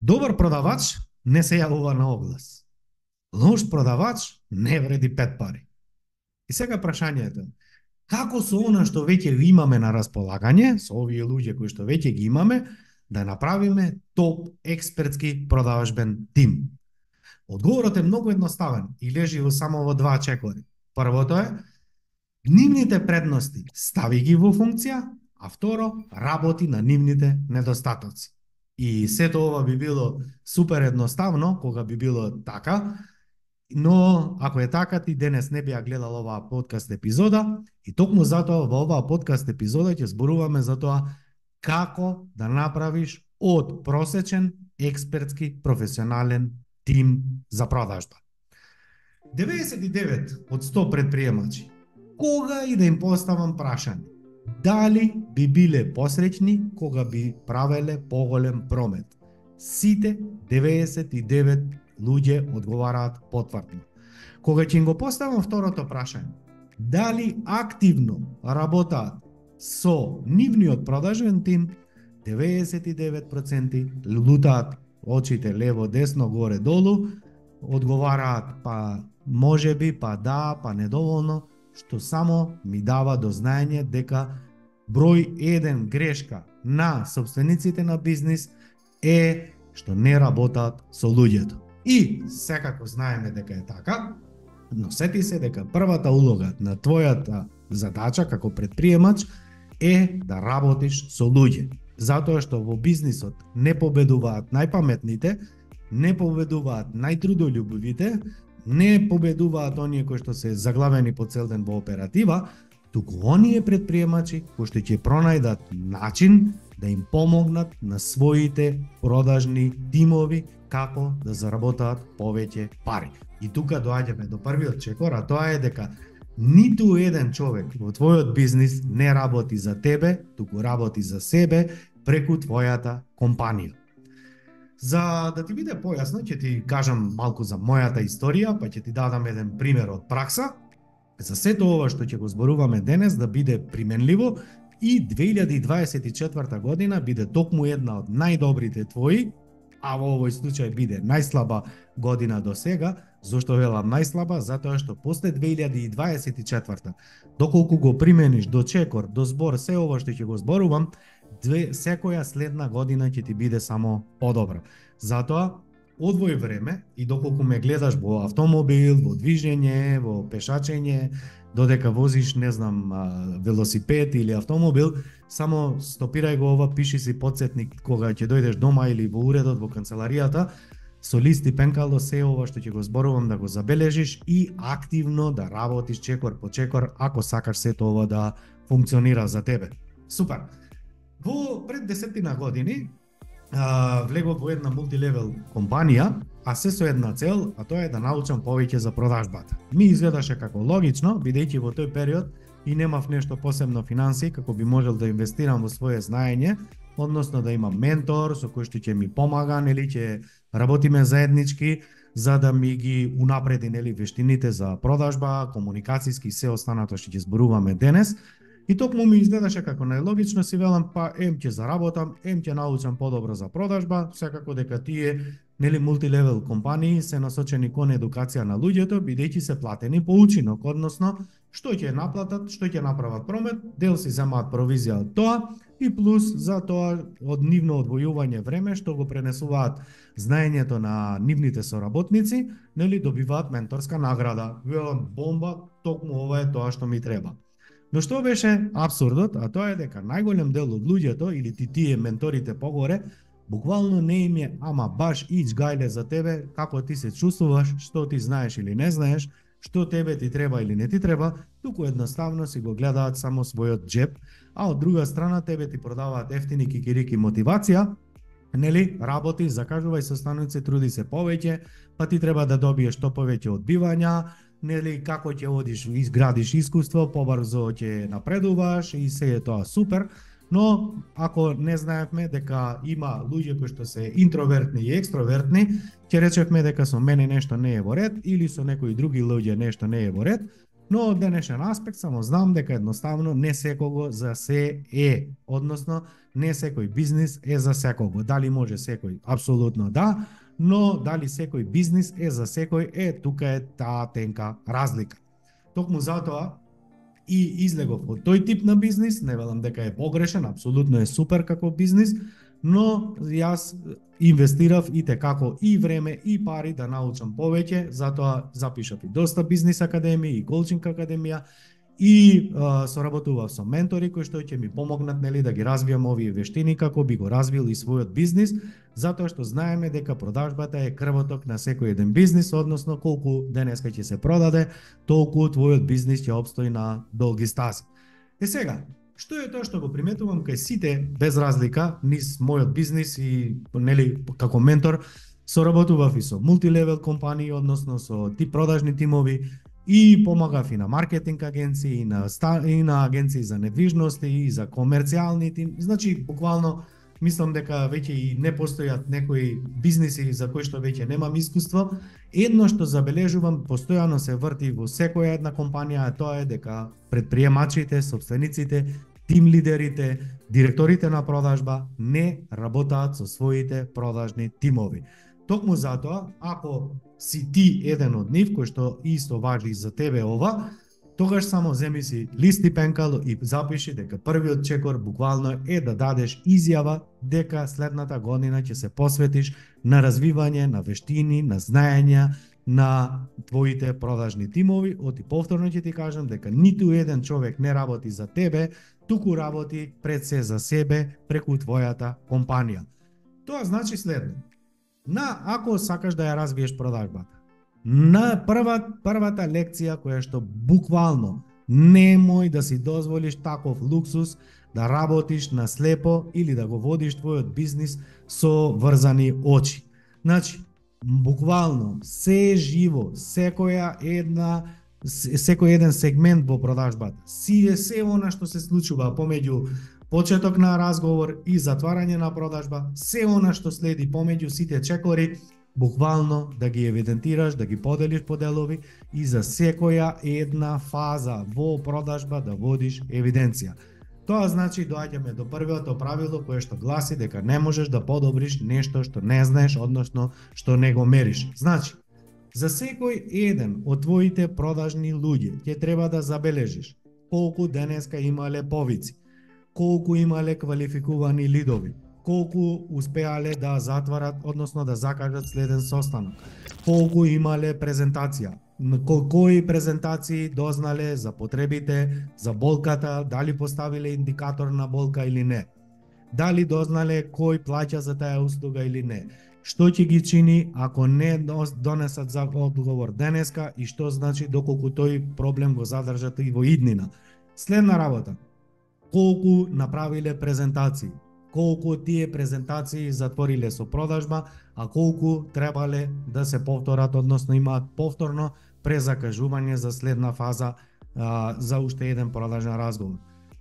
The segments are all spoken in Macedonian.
Добар продавач не се јавува на оглас. Лош продавач не вреди 5 пари. И сега прашањето е, како со она што веќе имаме на располагање, со овие луѓе кои што веќе ги имаме, да направиме топ експертски продавачбен тим? Одговорот е многу едноставен и лежи во само во два чекори. Првото е, нивните предности стави ги во функција, а второ, работи на нивните недостатоци. И сето ова би било супер едноставно, кога би било така, но ако е така, ти денес не би ја гледал оваа подкаст епизода, и токму затоа во оваа подкаст епизода ќе зборуваме за тоа како да направиш од просечен експертски професионален тим за продажба. 99 од 100 предприемачи, кога и да им поставам прашање, дали би биле посреќни кога би правеле поголем промет? Сите 99 луѓе одговараат потврдно. Кога ќе им го поставам второто прашање, дали активно работаат со нивниот продажен тим, 99% лутаат очите лево, десно, горе, долу, одговараат па можеби, па да, па недоволно, што само ми дава до знаење дека број 1 грешка на собствениците на бизнис е што не работат со луѓето. И секако знаеме дека е така, но сети се дека првата улога на твојата задача како предприемач е да работиш со луѓе. Затоа што во бизнисот не победуваат најпаметните, не победуваат најтрудолюбивите, не победуваат оние кои што се заглавени по цел ден во оператива, туку оние предприемачи кои што ќе пронајдат начин да им помогнат на своите продажни тимови како да заработаат повеќе пари. И тука доаѓаме до првиот чекор, а тоа е дека ниту еден човек во твојот бизнис не работи за тебе, туку работи за себе преку твојата компанија. За да ти биде појасно, ќе ти кажам малку за мојата историја, па ќе ти дадам еден пример од пракса, за сето ова што ќе го зборуваме денес да биде применливо и 2024 година биде токму една од најдобрите твои, а во овој случај биде најслаба година до сега. Зошто велам најслаба? Затоа што после 2024, доколку го примениш до чекор, до збор, се ова што ќе го зборувам, секоја следна година ќе ти биде само подобра. Затоа, одвој време и доколку ме гледаш во автомобил, во движење, во пешачење, додека возиш, не знам, велосипед или автомобил, само стопирај го ова, пиши си подсетник кога ќе дојдеш дома или во уредот, во канцеларијата, со лист и пенкало се ова што ќе го зборувам да го забележиш и активно да работиш чекор по чекор, ако сакаш сето ова да функционира за тебе. Супер! Во пред 10 години влегов во една мултилевел компанија, а се со една цел, а тоа е да научам повеќе за продажбата. Ми изгледаше како логично, бидејќи во тој период и немав нешто посебно финансии како би можел да инвестирам во свое знаење, односно да имам ментор со кој што ќе ми помага, нели, ќе работиме заеднички за да ми ги унапреди, нели, вештините за продажба, комуникацијски и се останато што ќе зборуваме денес. И токму ми изгледаше како најлогично, си велам, па ќе заработам, ќе научам подобро за продажба, секако дека тие, нели, мултилевел компании се насочени кон едукација на луѓето, бидејќи се платени по учинок, односно што ќе наплатат, што ќе направат промет, дел си земаат провизија од тоа и плюс за тоа од нивно одвојување време што го пренесуваат знаењето на нивните соработници, нели, добиваат менторска награда. Велам, бомба, токму ова е тоа што ми треба. Но што беше апсурдот, а тоа е дека најголем дел од луѓето или тие менторите погоре, буквално не им е ама баш ич гајле за тебе, како ти се чувствуваш, што ти знаеш или не знаеш, што тебе ти треба или не ти треба, туку едноставно си го гледаат само својот джеб, а од друга страна тебе ти продаваат ефтини кикирики мотивација, нели, работи, закажувај состаноци, труди се повеќе, па ти треба да добиеш што повеќе одбивања, нели, како ќе одиш, изградиш искуство, побрзо ќе напредуваш и се е тоа супер, но ако не знаевме дека има луѓе кои што се интровертни и екстровертни, ќе речевме дека со мене нешто не е во ред или со некои други луѓе нешто не е во ред, Но од денешен аспект само знам дека едноставно не секого за се е, односно не секој бизнис е за секого. Дали може секој? Апсолутно да, но дали секој бизнис е за секој, тука е таа тенка разлика. Токму затоа и излегов од тој тип на бизнис, не велам дека е погрешен, апсолутно е супер како бизнис, но јас инвестирав и како и време и пари да научам повеќе, затоа запишав и доста бизнис академии и коучинг академија и соработував со ментори кои што ќе ми помогнат да ги развијам овие вештини како би го развил и својот бизнис, затоа што знаеме дека продажбата е крвоток на секој еден бизнис, односно колку денеска ќе се продаде, толку твојот бизнис ќе опстои на долги стази. Сега, што е тоа што го приметувам кај сите без разлика низ мојот бизнис и како ментор соработував и со мултилевел компании, односно со продажни тимови, и помагав и на маркетинг агенции, и на агенции за недвижности, и за комерцијални тим. Значи, буквално, мислам дека веќе и не постојат некои бизниси за кои што веќе немам искуство. Едно што забележувам, постојано се врти во секоја една компанија, тоа е дека предприемачите, собствениците, тим лидерите, директорите на продажба не работаат со своите продажни тимови. Токму затоа, ако си ти еден од нив, кој што исто важи за тебе ова, тогаш само земи си лист и пенкал и запиши дека првиот чекор буквално е да дадеш изјава дека следната година ќе се посветиш на развивање на вештини, на знаења, на твоите продажни тимови. Оти повторно ќе ти кажам дека ниту еден човек не работи за тебе, туку работи пред се за себе преку твојата компанија. Тоа значи следно. Ако сакаш да ја развиеш продажбата, на првата лекција која што буквално немој да си дозволиш таков луксус да работиш на слепо или да го водиш твојот бизнис со врзани очи. Значи, буквално се живо, секој еден сегмент во продажбата, се она што се случува помеѓу почеток на разговор и затварање на продажба, се она што следи помеѓу сите чекори, буквално да ги евидентираш, да ги поделиш по делови и за секоја една фаза во продажба да водиш евиденција. Тоа значи доаѓаме до првото правило кое што гласи дека не можеш да подобриш нешто што не знаеш, односно што не го мериш. Значи, за секој еден од твоите продажни луѓе ќе треба да забележиш колку денеска имале повици, колку имале квалификувани лидови, колку успеале да затварат, односно да закажат следен состанок, колку имале презентација, кои презентации дознале за потребите, за болката, дали поставиле индикатор на болка или не, дали дознале кој плаќа за таа услуга или не, што ќе ги чини ако не донесат за одговор денеска и што значи доколку тој проблем го задржат и во иднина. Следна работа, колку направиле презентации, колку тие презентации затвориле со продажба, а колку требале да се повторат, односно имаат повторно презакажување за следна фаза за уште еден продажен разговор.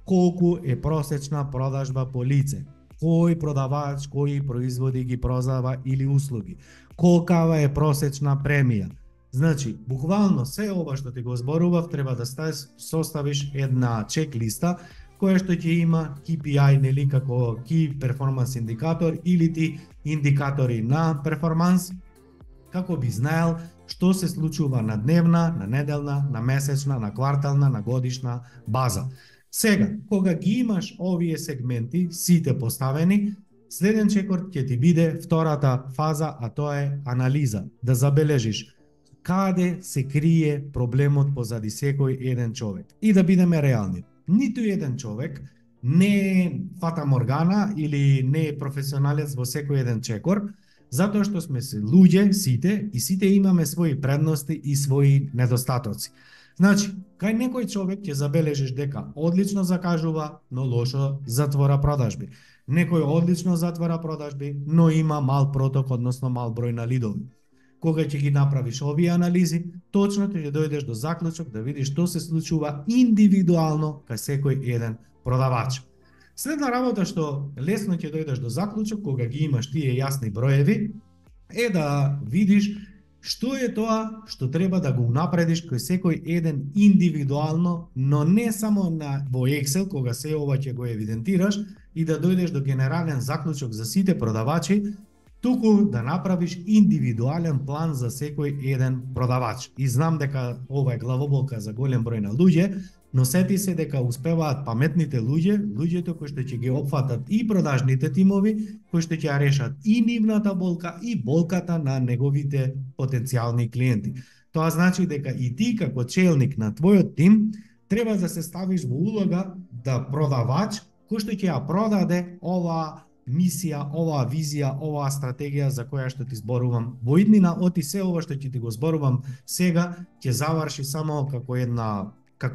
Колку е просечна продажба по лице, кој продавач, кои производи ги продава или услуги, колкава е просечна премија. Значи, буквално се ова што ти го зборував треба да составиш една чек-листа која што ќе има KPI, нели, како Key Performance Indicator или ти индикатори на перформанс, како би знаел што се случува на дневна, на неделна, на месечна, на квартална, на годишна база. Сега, кога ги имаш овие сегменти, сите поставени, следен чекор ќе ти биде втората фаза, а тоа е анализа, да забележиш каде се крие проблемот позади секој еден човек. И да бидеме реални, ниту еден човек не е фата моргана или не е професионалец во секој еден чекор, затоа што сме се луѓе сите и сите имаме своји предности и своји недостатоци. Значи, кај некој човек ќе забележиш дека одлично закажува, но лошо затвора продажби. Некој одлично затвора продажби, но има мал проток, односно мал број на лидови. Кога ќе ги направиш овие анализи, точно ќе дојдеш до заклучок да видиш што се случува индивидуално кај секој еден продавач. Следна работа што лесно ќе дојдеш до заклучок кога ги имаш тие јасни броеви е да видиш Што е тоа што треба да го унапредиш кој секој еден индивидуално, но не само во Excel, кога се ова ќе го евидентираш и да дојдеш до генерален заклучок за сите продавачи, туку да направиш индивидуален план за секој еден продавач. И знам дека ова е главоболка за голем број на луѓе, но сети се дека успеваат паметните луѓето кои што ќе ги опфатат и продажните тимови, кои што ќе ја решат и нивната болка и болката на неговите потенцијални клиенти. Тоа значи дека и ти како челник на твојот тим треба да се ставиш во улога да продавач кој што ќе ја продаде оваа мисија, оваа визија, оваа стратегија за која што ти зборувам во иднина, оти се ова што ќе ти го зборувам сега ќе заврши само како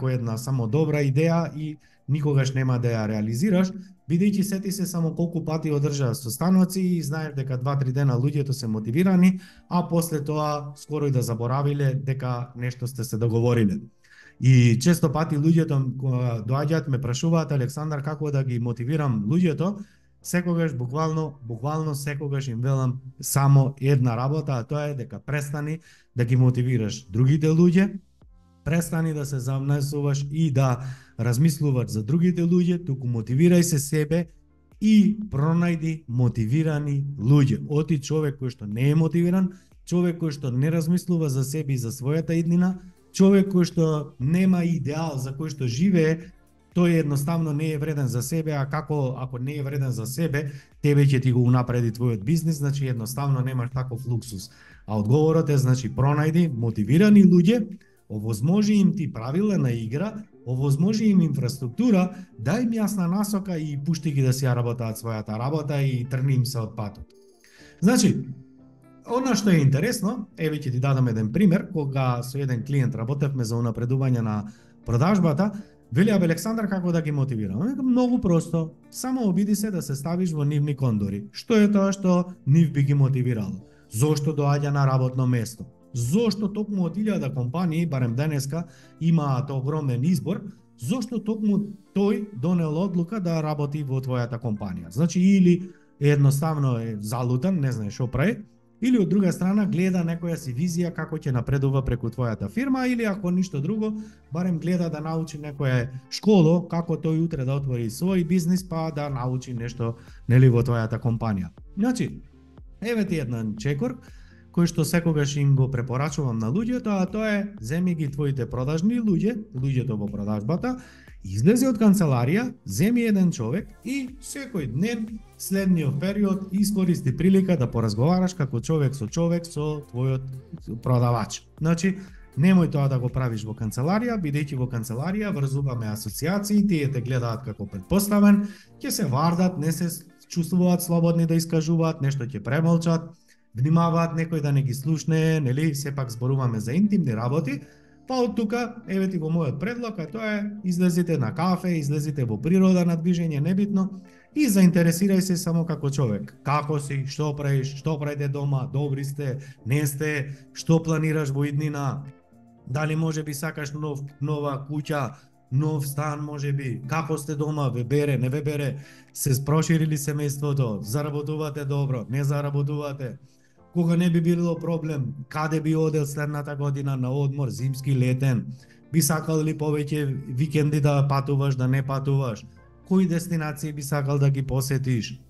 една само добра идеја и никогаш нема да ја реализираш, бидејќи сети се само колку пати одржаа состаноци и знаеш дека 2-3 дена луѓето се мотивирани, а после тоа скоро и да заборавиле дека нешто сте се договориле. И често пати луѓето доаѓаат ме прашуваат: Александар, како да ги мотивирам луѓето? Секогаш буквално секогаш им велам само една работа, а тоа е дека престани да ги мотивираш другите луѓе, престани да се замнесуваш и да размислуваш за другите луѓе, туку мотивирај се себе и пронајди мотивирани луѓе. Оти човек кој што не е мотивиран, човек кој што не размислува за себе и за својата иднина, човек кој што нема идеал за кој што живее, тој едноставно не е вреден за себе, а ако не е вреден за себе, тебе ќе ти го унапреди твојот бизнис, значи едноставно немаш таков луксус. А одговорот е, значи, пронајди мотивирани луѓе, овозможи им ти правила на игра, овозможи им инфраструктура, дај им јасна насока и пушти ги да си ја работаат својата работа и трни им се од патот. Значи, она што е интересно, еве ќе ти дадам еден пример, кога со еден клиент работевме за унапредување на продажбата, вели: Александар, како да ги мотивирам? Многу просто, само обиди се да се ставиш во нивни кондори. Што е тоа што нив би ги мотивирало? Зошто доаѓа на работно место? Зошто токму од 1000 компании, барем денеска, имаат огромен избор, зошто токму тој донел одлука да работи во твојата компанија? Значи, или едноставно е залутан, не знае што прави, или од друга страна гледа некоја си визија како ќе напредува преку твојата фирма, или ако ништо друго, барем гледа да научи некоја школо како тој утре да отвори свој бизнис, па да научи нешто, нели, во твојата компанија. Значи, еве ти еден чекор кој што секогаш им го препорачувам на луѓето, а тоа е: земи ги твоите продажни луѓето во продажбата, излези од канцеларија, земи еден човек и секој ден следниот период искористи прилика да поразговараш како човек со твојот продавач. Значи, немој тоа да го правиш во канцеларија, бидејќи во канцеларија врзуваме асоциации, тие те гледаат како претпоставен, ќе се вардат, не се чувствуваат слободни да искажуваат, нешто ќе премолчат, внимаваат некој да не ги слушне, нели, сепак зборуваме за интимни работи. Па од тука, еве ти го мојот предлог, а тоа е: излезите на кафе, излезите во природа на движење, небитно, и заинтересирај се само како човек. Како си, што правиш, што правите дома, добри сте, не сте, што планираш во иднина, дали можеби сакаш нова куќа, нов стан можеби, како сте дома, ве бере, не ве бере, се проширили семејството, заработувате добро, не заработувате, кога не би било проблем, каде би одел следната година на одмор, зимски, летен, би сакал ли повеќе викенди да патуваш, да не патуваш, кои дестинации би сакал да ги посетиш,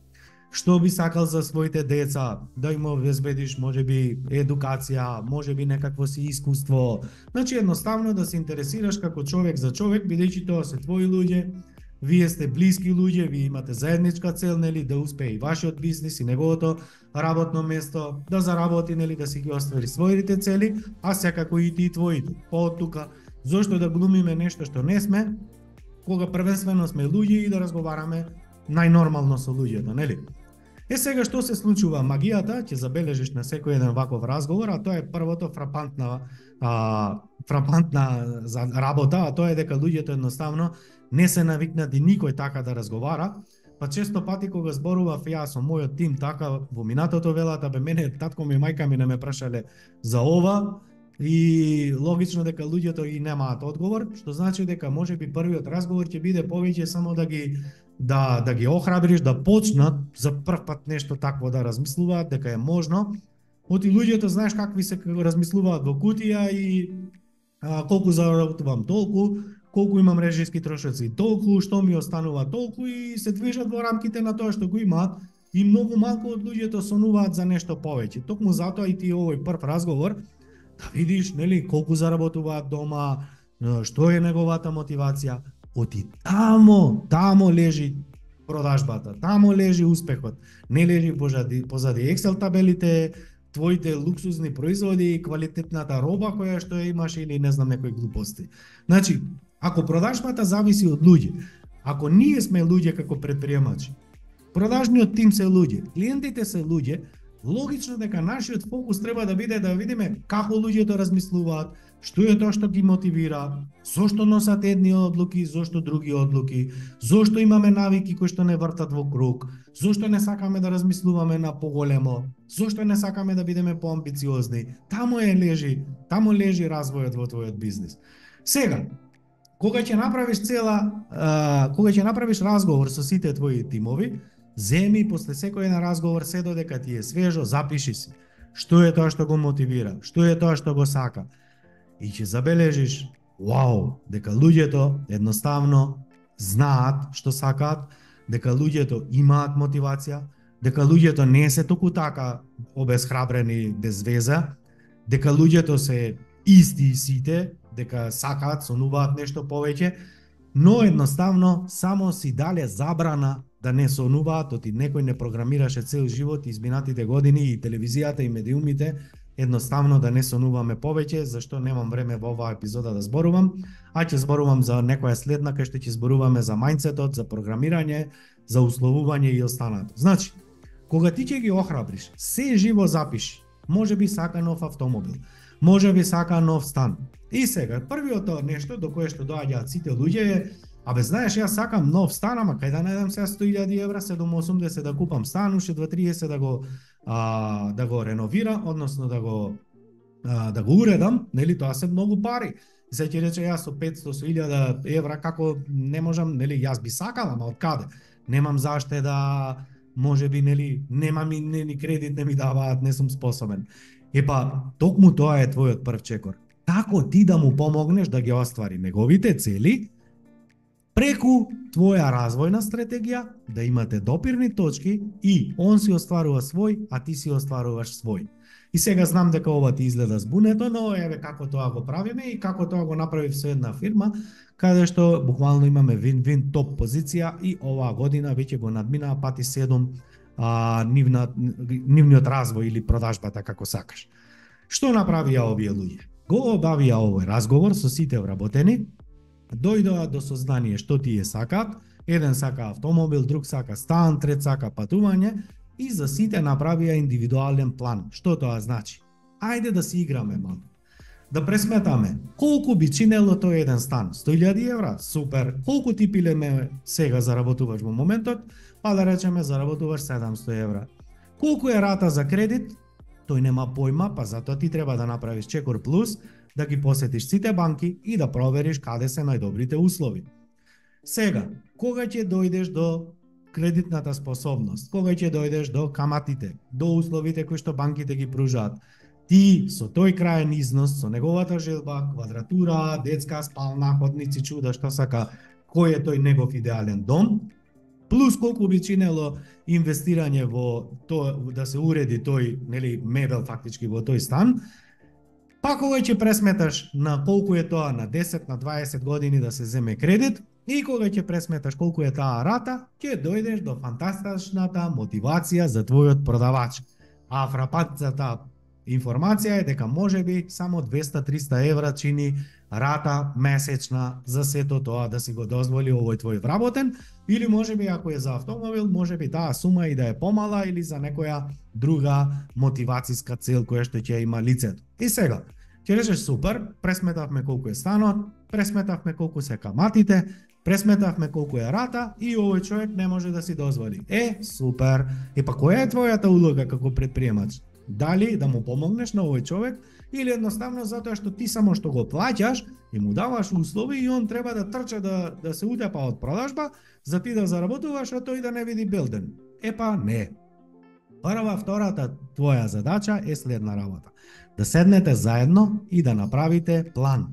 што би сакал за своите деца, да им обезбедиш можеби едукација, можеби некакво си искуство. Значи, едноставно да се интересираш како човек за човек, бидејќи тоа се твои луѓе, вие сте блиски луѓе, вие имате заедничка цел, нели, да успее и вашиот бизнис и неговото работно место, да заработи, нели, да си ги оствари своите цели, а секако и ти твоите. Па од тука, зошто да глумиме нешто што не сме, кога првенствено сме луѓе и да разговараме најнормално со луѓето, нели? Сега што се случува? Магијата ќе забележиш на секој еден ваков разговор, а тоа е првото фрапантна за работа, а тоа е дека луѓето едноставно не се навикнати никој така да разговара. Па често пати кога зборував јас со мојот тим така во минатото, велата: бе, мене татко ми и мајка ми не ме прашале за ова, и логично дека луѓето и немаат одговор, што значи дека можеби првиот разговор ќе биде повеќе само да ги охрабриш да почнат за прв пат нешто такво да размислуваат дека е можно. Оти луѓето знаеш какви се размислуваат во кутија и колку заработувам толку, колку имам режиски трошоци толку, што ми останува толку и се движат во рамките на тоа што го имаат и многу малку од луѓето сонуваат за нешто повеќе. Токму затоа и ти овој прв разговор да видиш нели колку заработуваат дома, што е неговата мотивација. Оти тамо лежи продажбата, тамо лежи успехот. Не лежи позади Excel табелите, твоите луксузни производи и квалитетната роба која што ја имаш или не знам некои глупости. Значи, ако продажбата зависи од луѓе, ако ние сме луѓе како предприемачи, продажниот тим се луѓе, клиентите се луѓе, логично дека нашиот фокус треба да биде да видиме како луѓето размислуваат, што е тоа што ги мотивира, зошто носат едни одлуки, зошто други одлуки, зошто имаме навики кои што не вртат во круг, зошто не сакаме да размислуваме на поголемо, зошто не сакаме да бидеме поамбициозни. Тамо лежи развојот во твојот бизнис. Сега, кога ќе направиш разговор со сите твои тимови, земи после секој на разговор се додека ти е свежо, запиши си. Што е тоа што го мотивира, што е тоа што го сака. И ќе забележиш, дека луѓето едноставно знаат што сакаат, дека луѓето имаат мотивација, дека луѓето не се току така обесхрабрени без веза, дека луѓето се исти сите, дека сакаат, сонуваат нешто повеќе, но едноставно само си дале забрана да не сонуваат, оти некој не програмираше цел живот изминатите години и телевизијата и медиумите едноставно да не сонуваме повеќе, зашто немам време во оваа епизода да зборувам, а ќе зборувам за некоја следна кај што ќе зборуваме за мајндсетот, за програмирање, за условување и останато. Значи, кога ти ќе ги охрабриш, се живо запиши, може би сака нов автомобил, може би сака нов стан. И сега, првиот нешто до кое што доаѓаат сите луѓе е, знаеш, јас сакам нов стан, ама кај да најдам сега 100.000 евра, 780 да купам стан, уште 230 да го реновира, односно да го уредам, нели, тоа се многу пари. Се ќе рече јас со 500.000 евра како не можам, нели, јас би сакал, ама од каде? Немам заште да, можеби, нели, немам и ни кредит не ми даваат, не сум способен. Токму тоа е твојот прв чекор. Како ти да му помогнеш да ги оствари неговите цели, преку твоја развојна стратегија, да имате допирни точки и он си остварува свој, а ти си остваруваш свој. И сега знам дека ова ти изгледа збунето, но еве како тоа го правиме и како тоа го направив со една фирма, каде што буквално имаме вин-вин топ позиција и оваа година веќе го надминаа пати 7 нивниот развој или продажбата како сакаш. Што направија овие луѓе? Го обавија овој разговор со сите вработени, дојдоа до сознание што тие сакаат, еден сака автомобил, друг сака стан, трет сака патување и за сите направија индивидуален план. Што тоа значи? Ајде да си играме малку. Да пресметаме колку би чинело тој еден стан. 100.000 евра? Супер. Колку ти пилеме сега заработуваш во моментот? Да речеме заработуваш 700 евра. Колку е рата за кредит? Тој нема појма, затоа ти треба да направиш чекор плюс, да ги посетиш сите банки и да провериш каде се најдобрите услови. Сега, кога ќе дојдеш до кредитната способност, кога ќе дојдеш до каматите, до условите кои што банките ги пружаат, ти со тој краен износ, со неговата желба, квадратура, детска спална, ходници, чуда, што сака, кој е тој негов идеален дом, плюс колку би чинело инвестирање во тоа да се уреди тој, нели, мебел фактички во тој стан, кога ќе пресметаш на колку е тоа на 10, на 20 години да се земе кредит и кога ќе пресметаш колку е таа рата, ќе дојдеш до фантастичната мотивација за твојот продавач. А фрапантната информација е дека можеби само 200-300 евра чини рата месечна за сето тоа да си го дозволи овој твој вработен, или можеби ако е за автомобил, можеби таа сума и да е помала или за некоја друга мотивацијска цел која што ќе има лицето. И сега, ќе речеш супер, пресметавме колку е станот, пресметавме колку се каматите, пресметавме колку е рата и овој човек не може да си дозволи. Супер. Која е твојата улога како предприемач? Дали да му помогнеш на овој човек или едноставно затоа што ти само што го плаќаш и му даваш услови и он треба да трча да се утепа од продажба за ти да заработуваш, а тој да не види белден. Не. Втората твоја задача е следна работа. Да седнете заедно и да направите план.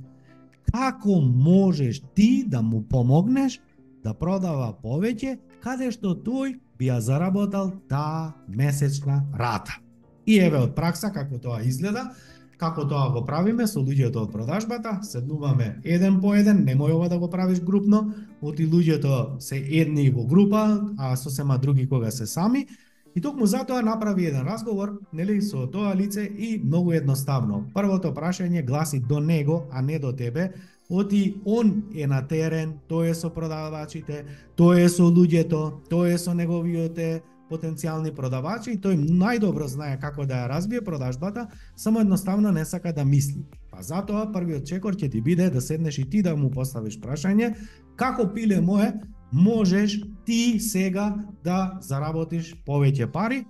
Како можеш ти да му помогнеш да продава повеќе, каде што тој би ја заработал таа месечна рата. И еве од пракса како тоа изгледа, како тоа го правиме со луѓето од продажбата, седнуваме еден по еден, немој ова да го правиш групно, оти луѓето се едни во група, а сосема други кога се сами, и токму затоа направи еден разговор, нели, со тоа лице и многу едноставно. Првото прашање гласи до него, а не до тебе. Оти он е на терен, тој е со продавачите, тој е со луѓето, тој е со неговите потенцијални продавачи и тој најдобро знае како да ја разбие продажбата, само едноставно не сака да мисли. Па затоа првиот чекор ќе ти биде да седнеш и ти да му поставиш прашање, како пиле мое можеш ти сега да заработиш повеќе пари,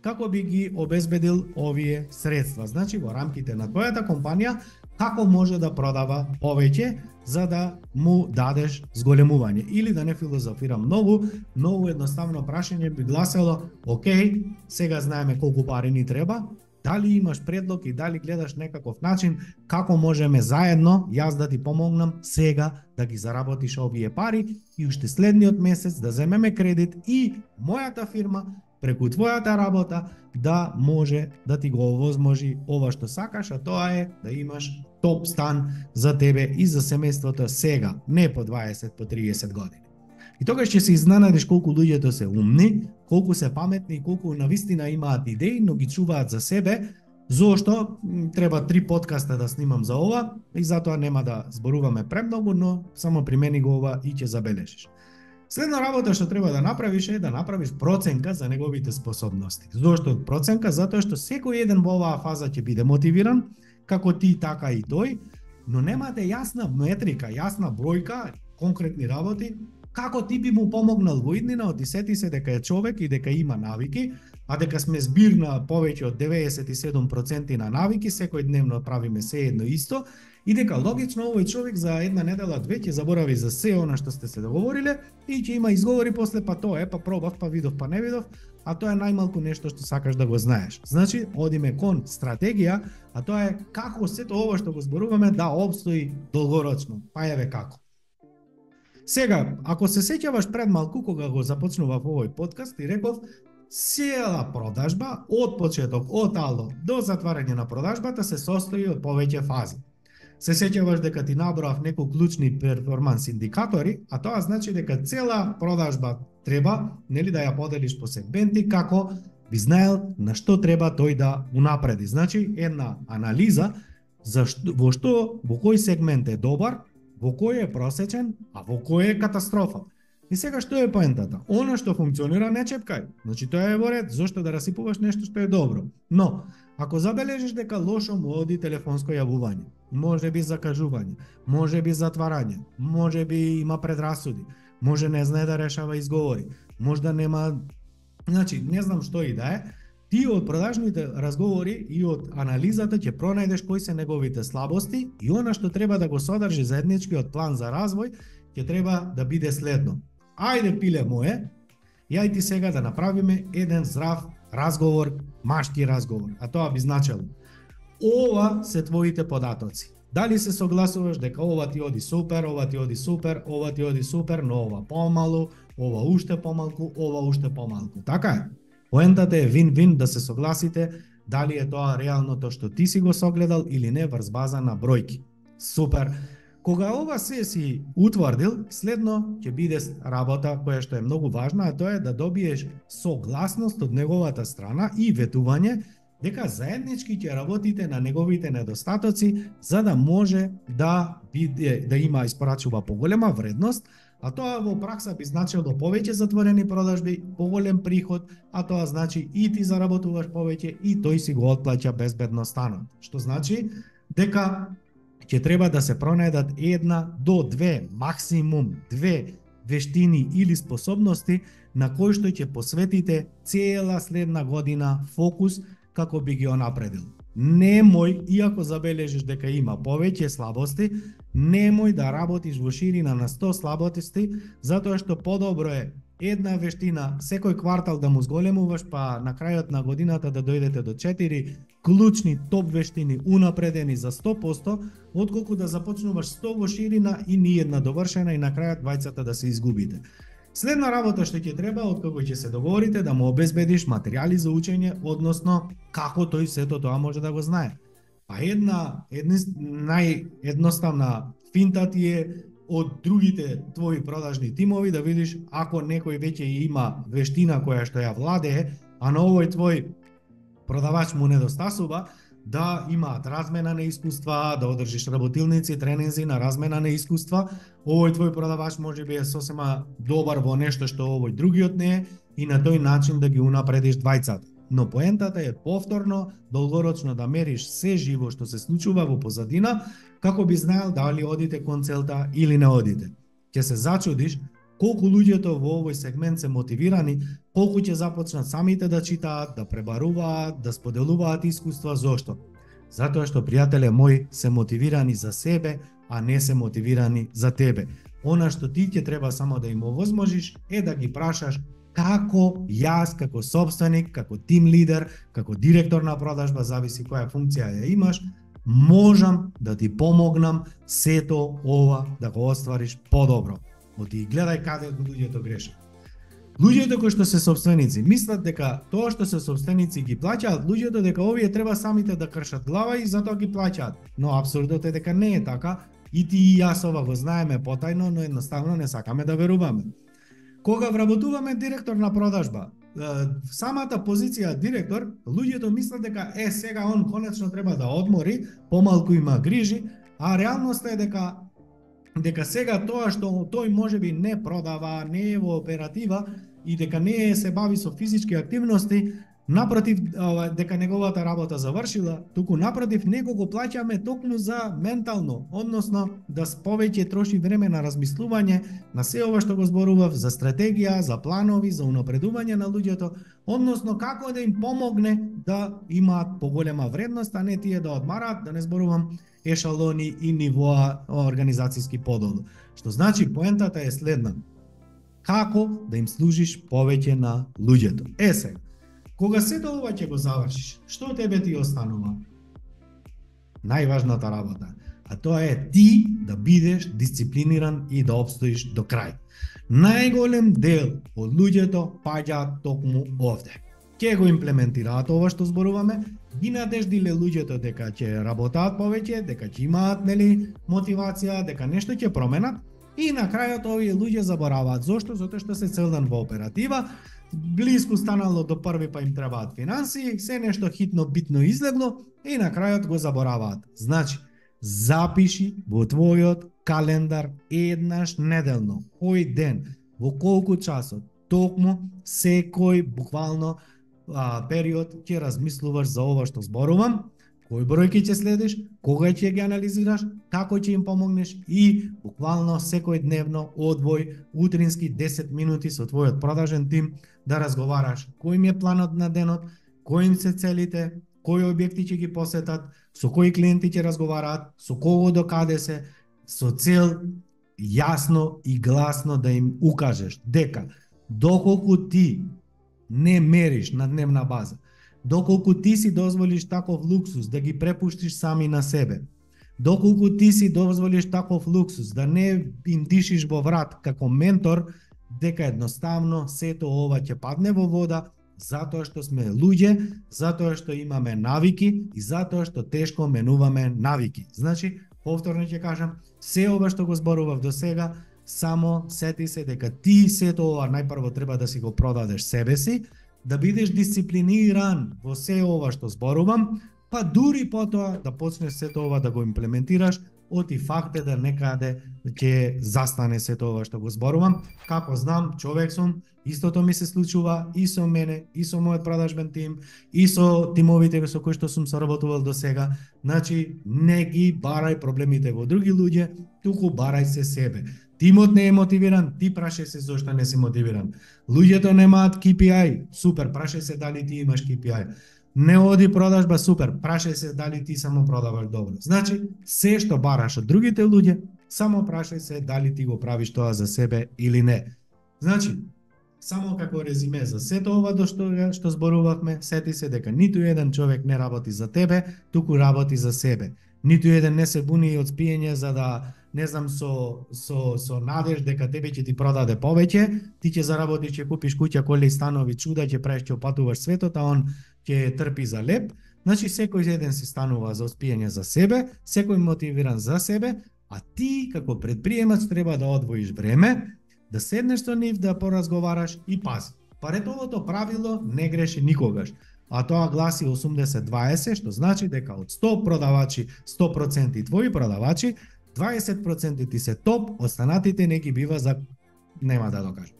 како би ги обезбедил овие средства. Значи во рамките на твојата компанија како може да продава повеќе за да му дадеш зголемување. Или да не филозофирам многу едноставно прашање би гласело: окей, сега знаеме колку пари ни треба, дали имаш предлог и дали гледаш некаков начин како можеме заедно, јас да ти помогнам сега да ги заработиш овие пари и уште следниот месец да земеме кредит и мојата фирма преку твојата работа да може да ти го овозможи ова што сакаш, а тоа е да имаш топ стан за тебе и за семејството сега, не по 20, по 30 години. И тогаш ќе се изненадиш колку луѓето се умни, колку се паметни и колку навистина имаат идеи, но ги чуваат за себе. Зошто? Треба 3 подкаста да снимам за ова и затоа нема да зборуваме премногу, но само примени го ова и ќе забележиш. Следна работа што треба да направиш е да направиш проценка за неговите способности. Зошто проценка? Затоа што секој еден во оваа фаза ќе биде мотивиран, како ти, така и тој, но немате јасна метрика, јасна бројка, конкретни работи, како ти би му помогнал во иднина, оти сети се дека е човек и дека има навики, а дека сме збир на повеќе од 97% на навики, секој дневно правиме се едно исто, и дека логично овој човек за една недела, две ќе заборави за се она што сте се договориле и ќе има изговори после, па тоа е, па пробав, па видов, па не видов, а тоа е најмалку нешто што сакаш да го знаеш. Значи, одиме кон стратегија, а тоа е како сето ова што го зборуваме да обстои долгорочно. Па еве како. Сега, ако се сеќаваш пред малку кога го започнував овој подкаст и реков, цела продажба од почеток, од ало до затварање на продажбата се состои од повеќе фази. Се сеќаваш дека ти наброав некои клучни перформанс индикатори, а тоа значи дека цела продажба треба, нели, да ја поделиш по сегменти како би знаел на што треба тој да унапреди. Значи, една анализа во кој сегмент е добар, во кој е просечен, а во кој е катастрофа. И сега што е поентата? Она што функционира не чепкај. Значи тоа е во ред, зошто да расипуваш нешто што е добро. Но, ако забележиш дека лошо му оди телефонско јавување, може би закажување, може би затварање, може би има предрасуди, може не знае да решава изговори, може да нема, значи не знам што и да е, ти од продажните разговори и од анализата ќе пронајдеш кои се неговите слабости и она што треба да го содржи заедничкиот план за развој ќе треба да биде следно. Ајде, пиле мое, ја и ти сега да направиме еден здрав разговор, машки разговор, а тоа би значело: ова се твоите податоци. Дали се согласуваш дека ова ти оди супер, ова ти оди супер, ова ти оди супер, но ова помалу, ова уште помалку, ова уште помалку. Така е. Поентата е вин-вин да се согласите дали е тоа реалното што ти си го согледал или не врз база на бројки. Супер. Кога ова се си утврдил, следно ќе биде работа која што е многу важна, а тоа е да добиеш согласност од неговата страна и ветување дека заеднички ќе работите на неговите недостатоци за да може да има испорачува поголема вредност, а тоа во пракса би значило повеќе затворени продажби, поголем приход, а тоа значи и ти заработуваш повеќе и тој си го отплаќа безбедно станот. Што значи дека ќе треба да се пронајдат 1 до 2, максимум 2 вештини или способности на кои што ќе посветите цела следна година фокус како би ги онапредил. Немој, иако забележиш дека има повеќе слабости, немој да работиш во ширина на 100 слабости, затоа што подобро е една вештина секој квартал да му зголемуваш, па на крајот на годината да дојдете до 4 клучни топ вештини унапредени за 100%, отколку да започнуваш 100 во ширина и ни една довршена и на крајот двајцата да се изгубите. Следна работа што ќе треба, откако ќе се договорите, да му обезбедиш материјали за учење, односно како тој сето тоа може да го знае. Па наједноставна финта ти е од другите твои продажни тимови да видиш ако некој веќе има вештина која што ја владее, а на овој твој продавач му недостасува, да имаат размена на искуства, да одржиш работилници, тренинзи на размена на искуства. Овој твој продавач може би е сосема добар во нешто што овој другиот не е и на тој начин да ги унапредиш двајцата. Но поентата е повторно, долгорочно да мериш се живо што се случува во позадина, како би знаел дали одите кон целта или не одите. Ќе се зачудиш колку луѓето во овој сегмент се мотивирани, колку ќе започнат самите да читаат, да пребаруваат, да споделуваат искуства. Зошто? Затоа што, пријателе мој, се мотивирани за себе, а не се мотивирани за тебе. Она што ти ќе треба само да им овозможиш е да ги прашаш како јас, како собственик, како тим лидер, како директор на продажба, зависи која функција ја имаш, можам да ти помогнам сето ова да го оствариш подобро. Оти гледај каде луѓето грешат. Луѓето кои што се собственици мислат дека тоа што се собственици ги плаќаат луѓето, дека овие треба самите да кршат глава и затоа ги плаќаат. Но апсурдот е дека не е така, и ти и јас ова го знаеме потајно, но едноставно не сакаме да веруваме. Кога вработуваме директор на продажба, самата позиција директор, луѓето мислат дека сега он конечно треба да одмори, помалку има грижи, а реалноста е дека сега тоа што тој можеби не продава, не е во оператива и дека не се бави со физички активности, напротив, дека неговата работа завршила, туку напротив него го плаќаме токму за ментално, односно да повеќе троши време на размислување на се ова што го зборував, за стратегија, за планови, за унапредување на луѓето, односно како да им помогне да имаат поголема вредност, а не тие да одмараат, да не зборувам ешалони и нивоа организацијски подолу. Што значи поентата е следна: како да им служиш повеќе на луѓето. Сега, кога сето ова ќе го завршиш, што тебе ти останува? Најважната работа, а тоа е ти да бидеш дисциплиниран и да обстоиш до крај. Најголем дел од луѓето паѓаат токму овде. Ке го имплементираат ова што зборуваме, ги надеждиле луѓето дека ќе работаат повеќе, дека ќе имаат мотивација, дека нешто ќе променат, и на крајот овие луѓе забораваат. Зошто? Затоа што се цел ден во оператива, блиску станало до први, па им требаат финансии, се нешто хитно битно излегло и на крајот го забораваат. Значи, запиши во твојот календар еднаш неделно, кој ден, во колку часот, токму секој буквално период ќе размислуваш за ова што зборувам, кој бројки ќе следиш, кога ќе ги анализираш, како ќе им помогнеш и буквално секој дневно одвој утрински 10 минути со твојот продажен тим да разговараш кој им е планот на денот, кои им се целите, кои објекти ќе ги посетат, со кои клиенти ќе разговараат, со кого до каде се, со цел јасно и гласно да им укажеш дека доколку ти не мериш на дневна база, доколку ти си дозволиш таков луксус да ги препуштиш сами на себе, доколку ти си дозволиш таков луксус да не им дишиш во врат како ментор, дека едноставно сето ова ќе падне во вода, затоа што сме луѓе, затоа што имаме навики и затоа што тешко менуваме навики. Значи, повторно ќе кажам, се ова што го зборував до сега, само сети се дека ти сето ова најпрво треба да си го продадеш себе си, да бидеш дисциплиниран во се ова што зборувам, па дури потоа да почнеш сето ова да го имплементираш, оти факт е да некаде ќе застане сето ова што го зборувам. Како знам, човек сум, истото ми се случува и со мене, и со мојот продажбен тим, и со тимовите со кои што сум соработувал до сега. Значи, не ги барај проблемите во други луѓе, туку барај се себе. Тимот не е мотивиран, ти прашај се зошто не си мотивиран. Луѓето немаат KPI, супер, прашај се дали ти имаш KPI. Не оди продажба, супер, прашај се дали ти само продаваш добро. Значи, се што бараш од другите луѓе, само прашај се дали ти го правиш тоа за себе или не. Значи, Само како резиме за сето ова до што зборувавме, сети се дека ниту еден човек не работи за тебе, туку работи за себе. Ниту еден не се буни од спиење за да, не знам, со надеж дека тебе ќе ти продаде повеќе, ти ќе заработиш, ќе купиш куќа, коли, станови, чуда, ќе правиш, ќе опатуваш светот, а он ќе трпи за леп. Значи секој еден си станува за спиење за себе, секој мотивиран за себе, а ти како предприемач треба да одвоиш време, да седнеш со нив, да поразговараш и пази. Паретовото правило не греши никогаш. А тоа гласи 80-20, што значи дека од 100 продавачи, 100% твои продавачи, 20% ти се топ, останатите не ги бива за нема да докажам.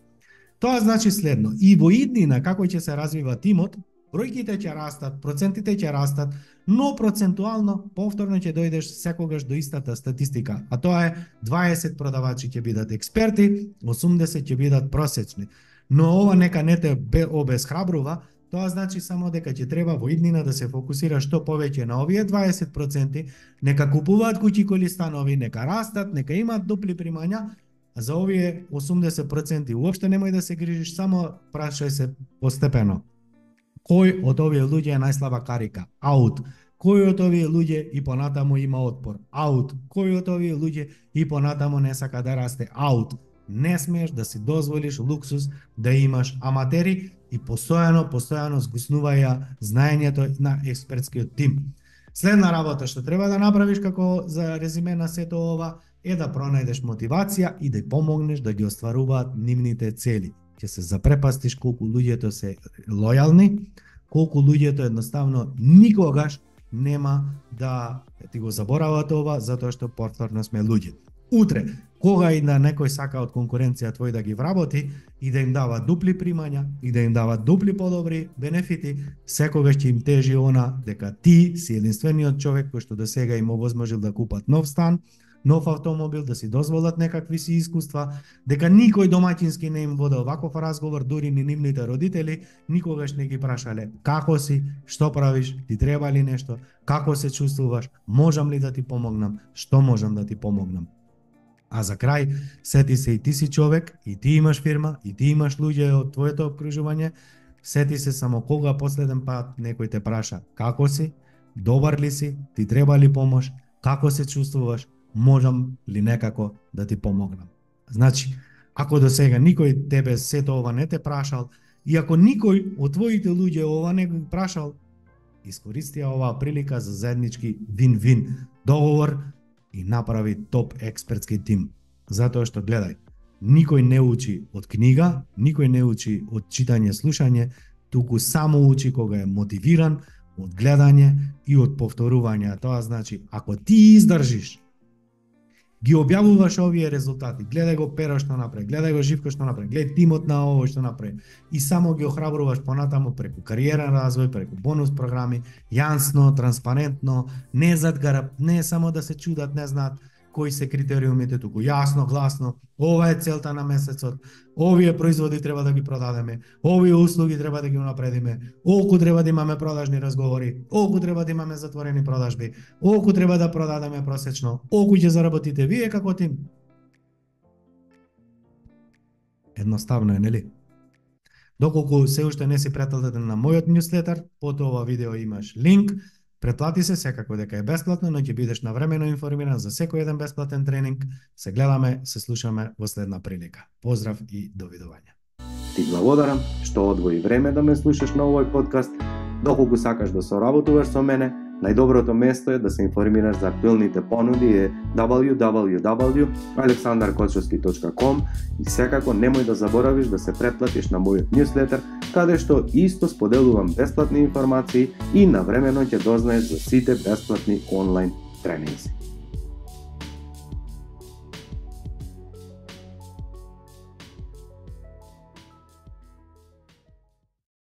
Тоа значи следно, и во иднина како ќе се развива тимот, бројките ќе растат, процентите ќе растат, но процентуално повторно ќе дојдеш секогаш до истата статистика, а тоа е 20 продавачи ќе бидат експерти, 80 ќе бидат просечни. Но ова нека не те обесхрабрува, тоа значи само дека ќе треба во иднина да се фокусира што повеќе на овие 20%, нека купуваат куќи, коли, станови, нека растат, нека имаат дупли примања, а за овие 80% уопште немој да се грижиш, само прашај се постепено. Кој од овие луѓе е најслаба карика? Аут. Кој од овие луѓе и понатаму има отпор? Аут. Кој од овие луѓе и понатаму не сака да расте? Аут. Не смееш да си дозволиш луксус да имаш аматери и постојано згуснуваја знаењето на експертскиот тим. Следна работа што треба да направиш како за резиме на сето ова е да пронајдеш мотивација и да помогнеш да ги остваруваат нивните цели. Ќе се запрепастиш колку луѓето се лојални, колку луѓето едноставно никогаш нема да ти го заборават ова, затоа што повторно сме луѓе. Утре, кога и на некој сака од конкуренција твој да ги вработи и да им дава дупли примања и да им дава дупли подобри бенефити, секогаш ќе им тежи она дека ти си единствениот човек кој што досега им овозможил да купат нов стан, нов автомобил, да си дозволат некакви си искуства, дека никој домаќински не им воде ваков разговор, дури ни нивните родители никогаш не ги прашале како си, што правиш, ти треба ли нешто, како се чувствуваш, можам ли да ти помогнам, што можам да ти помогнам. А за крај, сети се и ти си човек, и ти имаш фирма, и ти имаш луѓе од твоето обкружување, сети се само кога последен пат некој те праша како си, добар ли си, ти треба ли помош, како се чувствуваш, можам ли некако да ти помогнам. Значи, ако до сега никој тебе сето ова не те прашал, и ако никој од твоите луѓе ова не го прашал, искористија оваа прилика за заеднички вин-вин договор и направи топ експертски тим. Затоа што гледај, никој не учи од книга, никој не учи од читање, слушање, туку само учи кога е мотивиран од гледање и од повторување. Тоа значи, ако ти издржиш, ги објавуваш овие резултати, гледај го Pero што направи, гледај го Живко што направи, гледај тимот на овој што направи и само ги охрабруваш понатаму преку кариерен развој, преку бонус програми, јасно, транспарентно, не задгараб, не само да се чудат, не знаат кои се критериумите, туку јасно, гласно, ова е целта на месецот, овие производи треба да ги продадеме, овие услуги треба да ги унапредиме, олку треба да имаме продажни разговори, олку треба да имаме затворени продажби, олку треба да продадеме просечно, олку ќе заработите вие како тим. Едноставно е, нели? Доколку се уште не си претплатен на мојот ньюслетер, под ова видео имаш линк. Претплати се, секако дека е бесплатно, но ќе бидеш навремено информиран за секој еден бесплатен тренинг. Се гледаме, се слушаме во следна прилика. Поздрав и довидување. Ти благодарам што одвои време да ме слушаш на овој подкаст. Доколку сакаш да соработуваш со мене, најдоброто место е да се информираш за актуелните понуди е www.aleksandarkochovski.com и секако немој да заборавиш да се претплатиш на мојот ньюслетер, каде што исто споделувам бесплатни информации и навремено ќе дознаеш за сите бесплатни онлайн тренинзи.